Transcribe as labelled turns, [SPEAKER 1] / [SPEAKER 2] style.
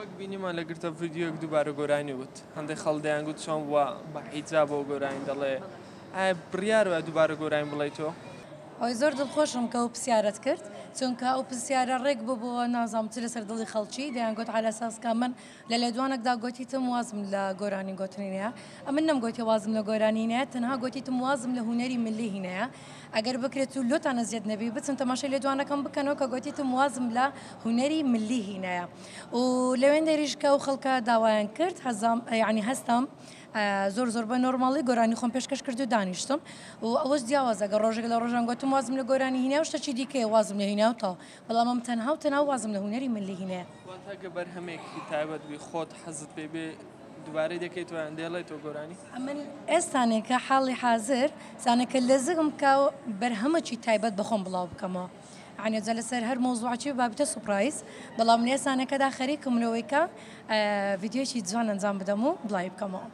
[SPEAKER 1] وەک بینیمان لە گرتە ڤیدیۆیەک دووبارە گۆرانی وت، هەندێک خەڵک دەیانگوت چۆن بووە بە حیجابەوە گۆرانی دەڵێ، ئایا بڕیار وایە دووبارە گۆرانی بڵێیتەوە؟
[SPEAKER 2] ئەوەی زۆر دڵخۆشم کە ئەو پرسیارەت کرد چونکە ئەو پرسیارە ڕێک ببووە نازانم چ لەسەر دڵی خەڵکی دەیانگوت عەلەساس کە من لە لێدوانێکدا گۆتیتم وازم لە گۆرانی گۆتنی نەیە ئەمن نەمگۆتیە وازم لە گۆرانی نەیە تەنها گۆتیتم وازم لە هونەری ملی هینەیە ئەگەر بکرێت و لۆتان ئەزیەت نەبی بچن تەماشای لێدوانەکەم بکەنەوە کە گۆتیتم وازم لە هونەری ملی هینەیە و لەوێندەریش کە ئەو خەڵکە داوایان کرد هەزام یعنی هەستام زۆر زۆر بە نۆرماڵی گۆرانی خۆم پێشکەش کرد و دانیشتم و ئەوەش جیاوازە گەر ڕۆژێک لە ڕۆژان گۆتم وازم لە گۆرانی هینا و شتەکی دیکەیە وازم لە هینا و تەواو بەڵام ئەم تەنها و تەنها وازم لە هونەری ملی هینایە.
[SPEAKER 1] واتە گە بەرهەمێکی تایبەت بی خۆت حەزت پێی بێ دوبارەی دەکەیتەوە یان دەیڵێیتەوە گۆرانی؟
[SPEAKER 2] ئەمن ئێستانێکە حاڵی حازر سانێکە لەزگم کە بەرهەمەکی تایبەت بە خۆم بڵاو بکەمەوە یانی جا لەسەر هەر مەوزوعەکی بابتە سوپرایز بەڵام لە ئێستانێکەدا خەریکم لەوەی کە ڤیدیۆیەکی جوان ئەنجام بدەم و بڵاوی بکەمەوە.